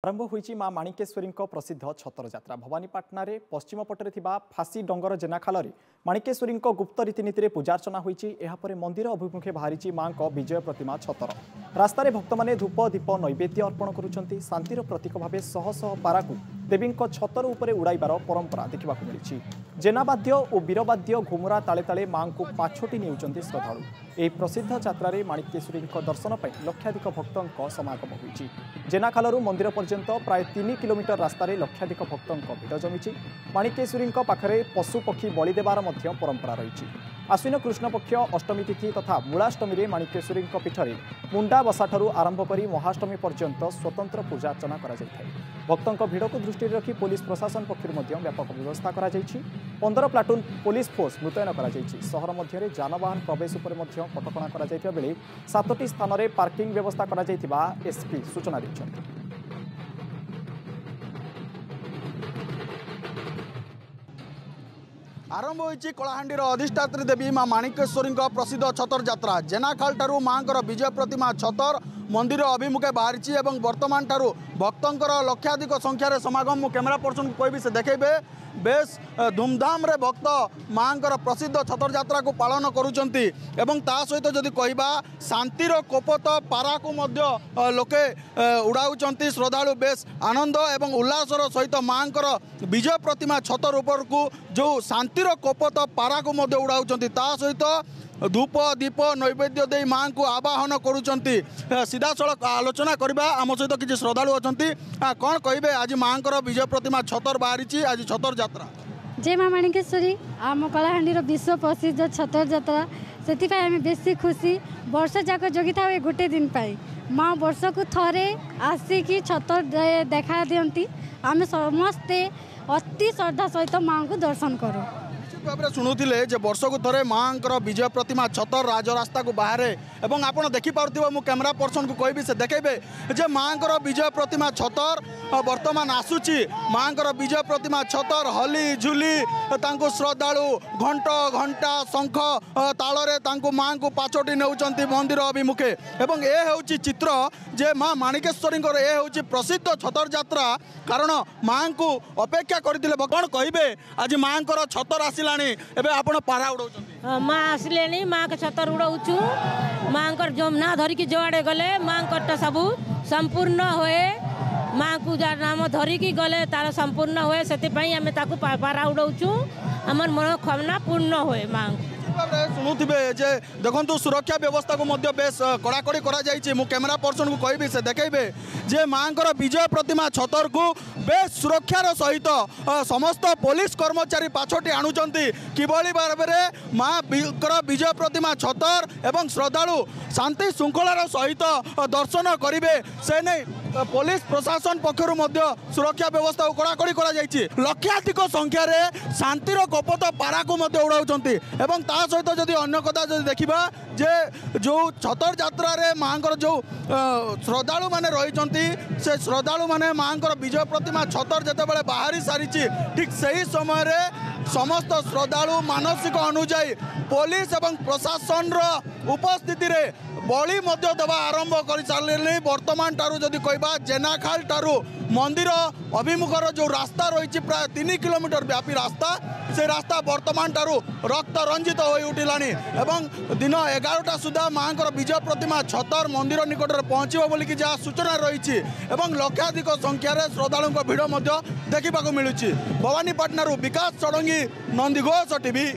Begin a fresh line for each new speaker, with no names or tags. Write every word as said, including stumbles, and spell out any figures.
ଆରମ୍ଭ ହୋଇଛି ମା ମାଣିକେଶ୍ୱରୀଙ୍କ ପ୍ରସିଦ୍ଧ ଛତର ଯାତ୍ରା। ଭବାନୀପାଟଣାରେ ପଶ୍ଚିମ ପଟରେ ଥିବା ଫାଶୀ ଡଙ୍ଗର ଜେନାଖାଲରେ ମାଣିକେଶ୍ୱରୀଙ୍କ ଗୁପ୍ତ ରୀତିନୀତିରେ ପୂଜାର୍ଚ୍ଚନା ହୋଇଛି। ଏହାପରେ ମନ୍ଦିର ଅଭିମୁଖେ ବାହାରିଛି ମାଙ୍କ ବିଜୟ ପ୍ରତିମା ଛତର। ରାସ୍ତାରେ ଭକ୍ତମାନେ ଧୂପ, ଦୀପ, ନୈବେଦ୍ୟ ଅର୍ପଣ କରୁଛନ୍ତି। ଶାନ୍ତିର ପ୍ରତୀକ ଭାବେ ଶହ ଶହ ପାରାକୁ ଦେବୀଙ୍କ ଛତର ଉପରେ ଉଡ଼ାଇବାର ପରମ୍ପରା ଦେଖିବାକୁ ମିଳିଛି। ଜେନାବାଦ୍ୟ ଓ ବୀରବାଦ୍ୟ ଘୁମୁରା ତାଳେ ତାଳେ ମାଙ୍କୁ ପାଛୋଟି ନେଉଛନ୍ତି ଶ୍ରଦ୍ଧାଳୁ। ଏହି ପ୍ରସିଦ୍ଧ ଯାତ୍ରାରେ ମାଣିକେଶ୍ୱରୀଙ୍କ ଦର୍ଶନ ପାଇଁ ଲକ୍ଷାଧିକ ଭକ୍ତଙ୍କ ସମାଗମ ହୋଇଛି। ଜେନାଖାଲରୁ ମନ୍ଦିର ପର୍ଯ୍ୟନ୍ତ ପ୍ରାୟ ତିନି କିଲୋମିଟର ରାସ୍ତାରେ ଲକ୍ଷାଧିକ ଭକ୍ତଙ୍କ ଭିଡ଼ ଜମିଛି। ମାଣିକେଶ୍ୱରୀଙ୍କ ପାଖରେ ପଶୁପକ୍ଷୀ ବଳି ଦେବାର ମଧ୍ୟ ପରମ୍ପରା ରହିଛି। ଆଶ୍ୱିନ କୃଷ୍ଣପକ୍ଷ ଅଷ୍ଟମୀ ତିଥି ତଥା ମୂଳାଷ୍ଟମୀରେ ମାଣିକେଶ୍ୱରୀଙ୍କ ପୀଠରେ ମୁଣ୍ଡା ବସାଠାରୁ ଆରମ୍ଭ କରି ମହାଷ୍ଟମୀ ପର୍ଯ୍ୟନ୍ତ ସ୍ୱତନ୍ତ୍ର ପୂଜାର୍ଚ୍ଚନା କରାଯାଇଥାଏ। ଭକ୍ତଙ୍କ ଭିଡ଼କୁ ଦୃଷ୍ଟିରେ ରଖି ପୋଲିସ ପ୍ରଶାସନ ପକ୍ଷରୁ ମଧ୍ୟ ବ୍ୟାପକ ବ୍ୟବସ୍ଥା କରାଯାଇଛି। ପନ୍ଦର ପ୍ଲାଟୁନ୍ ପୋଲିସ ଫୋର୍ସ ମୁତୟନ କରାଯାଇଛି। ସହର ମଧ୍ୟରେ ଯାନବାହନ ପ୍ରବେଶ ଉପରେ ମଧ୍ୟ କଟକଣା କରାଯାଇଥିବା ବେଳେ ସାତଟି ସ୍ଥାନରେ ପାର୍କିଂ ବ୍ୟବସ୍ଥା କରାଯାଇଥିବା ଏସ୍ପି ସୂଚନା ଦେଇଛନ୍ତି।
ଆରମ୍ଭ ହୋଇଛି କଳାହାଣ୍ଡିର ଅଧିଷ୍ଠାତ୍ରୀ ଦେବୀ ମା ମାଣିକେଶ୍ୱରୀଙ୍କ ପ୍ରସିଦ୍ଧ ଛତର ଯାତ୍ରା। ଜେନାଖାଲ ଠାରୁ ମାଙ୍କର ବିଜୟ ପ୍ରତିମା ଛତର ମନ୍ଦିର ଅଭିମୁଖେ ବାହାରିଛି ଏବଂ ବର୍ତ୍ତମାନ ଠାରୁ ଭକ୍ତଙ୍କର ଲକ୍ଷାଧିକ ସଂଖ୍ୟାରେ ସମାଗମ। ମୁଁ କ୍ୟାମେରା ପର୍ସନକୁ କହିବି, ସେ ଦେଖେଇବେ। ବେଶ ଧୁମଧାମରେ ଭକ୍ତ ମାଙ୍କର ପ୍ରସିଦ୍ଧ ଛତର ଯାତ୍ରାକୁ ପାଳନ କରୁଛନ୍ତି ଏବଂ ତା ସହିତ ଯଦି କହିବା, ଶାନ୍ତିର କୋପତ ପାରାକୁ ମଧ୍ୟ ଲୋକେ ଉଡ଼ାଉଛନ୍ତି। ଶ୍ରଦ୍ଧାଳୁ ବେଶ ଆନନ୍ଦ ଏବଂ ଉଲ୍ଲାସର ସହିତ ମାଙ୍କର ବିଜୟ ପ୍ରତିମା ଛତର ଉପରକୁ ଯେଉଁ ଶାନ୍ତିର କୋପତ ପାରାକୁ ମଧ୍ୟ ଉଡ଼ାଉଛନ୍ତି, ତା ସହିତ ଧୂପ, ଦୀପ, ନୈବେଦ୍ୟ ଦେଇ ମାଙ୍କୁ ଆବାହନ କରୁଛନ୍ତି। ସିଧାସଳଖ ଆଲୋଚନା କରିବା, ଆମ ସହିତ କିଛି ଶ୍ରଦ୍ଧାଳୁ ଅଛନ୍ତି। କ'ଣ କହିବେ, ଆଜି ମାଙ୍କର ବିଜୟ ପ୍ରତିମା ଛତର ବାହାରିଛି, ଆଜି ଛତର ଯାତ୍ରା?
ଜୟ ମା ମାଣିକେଶ୍ୱରୀ। ଆମ କଳାହାଣ୍ଡିର ବିଶ୍ୱ ପ୍ରସିଦ୍ଧ ଛତର ଯାତ୍ରା, ସେଥିପାଇଁ ଆମେ ବେଶୀ ଖୁସି। ବର୍ଷ ଯାକ ଜଗିଥାଉ ଏ ଗୋଟେ ଦିନ ପାଇଁ। ମା ବର୍ଷକୁ ଥରେ ଆସିକି ଛତର ଦେଖା ଦିଅନ୍ତି। ଆମେ ସମସ୍ତେ ଅତି ଶ୍ରଦ୍ଧା ସହିତ ମାଙ୍କୁ ଦର୍ଶନ କରୁ।
ନିଶ୍ଚିତ ଭାବରେ ଶୁଣୁଥିଲେ ଯେ ବର୍ଷକୁ ଥରେ ମାଙ୍କର ବିଜୟ ପ୍ରତିମା ଛତର ରାଜରାସ୍ତାକୁ ବାହାରେ ଏବଂ ଆପଣ ଦେଖିପାରୁଥିବେ, ମୁଁ କ୍ୟାମେରା ପର୍ସନକୁ କହିବି, ସେ ଦେଖେଇବେ ଯେ ମାଙ୍କର ବିଜୟ ପ୍ରତିମା ଛତର ବର୍ତ୍ତମାନ ଆସୁଛି। ମାଙ୍କର ବିଜୟ ପ୍ରତିମା ଛତର ହଲି ଝୁଲି ତାଙ୍କୁ ଶ୍ରଦ୍ଧାଳୁ ଘଣ୍ଟ, ଘଣ୍ଟା, ଶଙ୍ଖ ତାଳରେ ତାଙ୍କୁ ମାଙ୍କୁ ପାଛୋଟି ନେଉଛନ୍ତି ମନ୍ଦିର ଅଭିମୁଖେ। ଏବଂ ଏ ହେଉଛି ଚିତ୍ର ଯେ ମା ମାଣିକେଶ୍ୱରୀଙ୍କର ଏ ହେଉଛି ପ୍ରସିଦ୍ଧ ଛତର ଯାତ୍ରା, କାରଣ ମାଙ୍କୁ ଅପେକ୍ଷା କରିଥିଲେ। କ'ଣ କହିବେ, ଆଜି ମାଙ୍କର ଛତର ଆସିଲାଣି, ଏବେ ଆପଣ ପାରା ଉଡ଼ାଉଛନ୍ତି?
ମା ଆସିଲେଣି, ମାଙ୍କ ଛତର ଉଡ଼ଉଛୁ। ମାଙ୍କର ଯୋଉ ନାଁ ଧରିକି ଯୁଆଡ଼େ ଗଲେ ମାଙ୍କରଟା ସବୁ ସମ୍ପୂର୍ଣ୍ଣ ହୁଏ। ମାଙ୍କୁ ଯାହା ନାମ ଧରିକି ଗଲେ ତାର ସମ୍ପୂର୍ଣ୍ଣ ହୁଏ, ସେଥିପାଇଁ ଆମେ ତାକୁ ପାରା ଉଡ଼ଉଛୁ। ଆମର ମନୋକାମନା ପୂର୍ଣ୍ଣ ହୁଏ ମାଙ୍କୁ।
ଭାବରେ ଶୁଣୁଥିବେ ଯେ ଦେଖନ୍ତୁ, ସୁରକ୍ଷା ବ୍ୟବସ୍ଥାକୁ ମଧ୍ୟ ବେଶ କଡ଼ାକଡ଼ି କରାଯାଇଛି। ମୁଁ କ୍ୟାମେରା ପର୍ସନକୁ କହିବି, ସେ ଦେଖେଇବେ ଯେ ମାଙ୍କର ବିଜୟ ପ୍ରତିମା ଛତରକୁ ବେଶ ସୁରକ୍ଷାର ସହିତ ସମସ୍ତ ପୋଲିସ କର୍ମଚାରୀ ପାଛୋଟି ଆଣୁଛନ୍ତି। କିଭଳି ଭାବରେ ମାଙ୍କର ବିଜୟ ପ୍ରତିମା ଛତର ଏବଂ ଶ୍ରଦ୍ଧାଳୁ ଶାନ୍ତି ଶୃଙ୍ଖଳାର ସହିତ ଦର୍ଶନ କରିବେ, ସେ ନେଇ ପୋଲିସ ପ୍ରଶାସନ ପକ୍ଷରୁ ମଧ୍ୟ ସୁରକ୍ଷା ବ୍ୟବସ୍ଥାକୁ କଡ଼ାକଡ଼ି କରାଯାଇଛି। ଲକ୍ଷାଧିକ ସଂଖ୍ୟାରେ ଶାନ୍ତିର କପତ ପାରାକୁ ମଧ୍ୟ ଉଡ଼ାଉଛନ୍ତି। ଏବଂ ତା ସହିତ ଯଦି ଅନ୍ୟ କଥା ଯଦି ଦେଖିବା ଯେ ଯେଉଁ ଛତର ଯାତ୍ରାରେ ମାଙ୍କର ଯେଉଁ ଶ୍ରଦ୍ଧାଳୁମାନେ ରହିଛନ୍ତି, ସେ ଶ୍ରଦ୍ଧାଳୁମାନେ ମାଙ୍କର ବିଜୟ ପ୍ରତିମା ଛତର ଯେତେବେଳେ ବାହାରି ସାରିଛି, ଠିକ୍ ସେହି ସମୟରେ ସମସ୍ତ ଶ୍ରଦ୍ଧାଳୁ ମାନସିକ ଅନୁଯାୟୀ ପୋଲିସ ଏବଂ ପ୍ରଶାସନର ଉପସ୍ଥିତିରେ ବଳି ମଧ୍ୟ ଦେବା ଆରମ୍ଭ କରିସାରିଲେଣି। ବର୍ତ୍ତମାନ ଠାରୁ ଯଦି କହିବା, ଜେନାଖାଲ ଠାରୁ ମନ୍ଦିର ଅଭିମୁଖର ଯେଉଁ ରାସ୍ତା ରହିଛି, ପ୍ରାୟ ତିନି କିଲୋମିଟର ବ୍ୟାପୀ ରାସ୍ତା, ସେ ରାସ୍ତା ବର୍ତ୍ତମାନ ଠାରୁ ରକ୍ତ ରଞ୍ଜିତ ହୋଇ ଉଠିଲାଣି ଏବଂ ଦିନ ଏଗାରଟା ସୁଦ୍ଧା ମାଙ୍କର ବିଜୟ ପ୍ରତିମା ଛତର ମନ୍ଦିର ନିକଟରେ ପହଞ୍ଚିବ ବୋଲିକି ଯାହା ସୂଚନା ରହିଛି ଏବଂ ଲକ୍ଷାଧିକ ସଂଖ୍ୟାରେ ଶ୍ରଦ୍ଧାଳୁଙ୍କ ଭିଡ଼ ମଧ୍ୟ ଦେଖିବାକୁ ମିଳୁଛି। ଭବାନୀପାଟଣାରୁ ବିକାଶ ଷଡ଼ଙ୍ଗୀ, ନନ୍ଦିଘୋଷ ଟିଭି।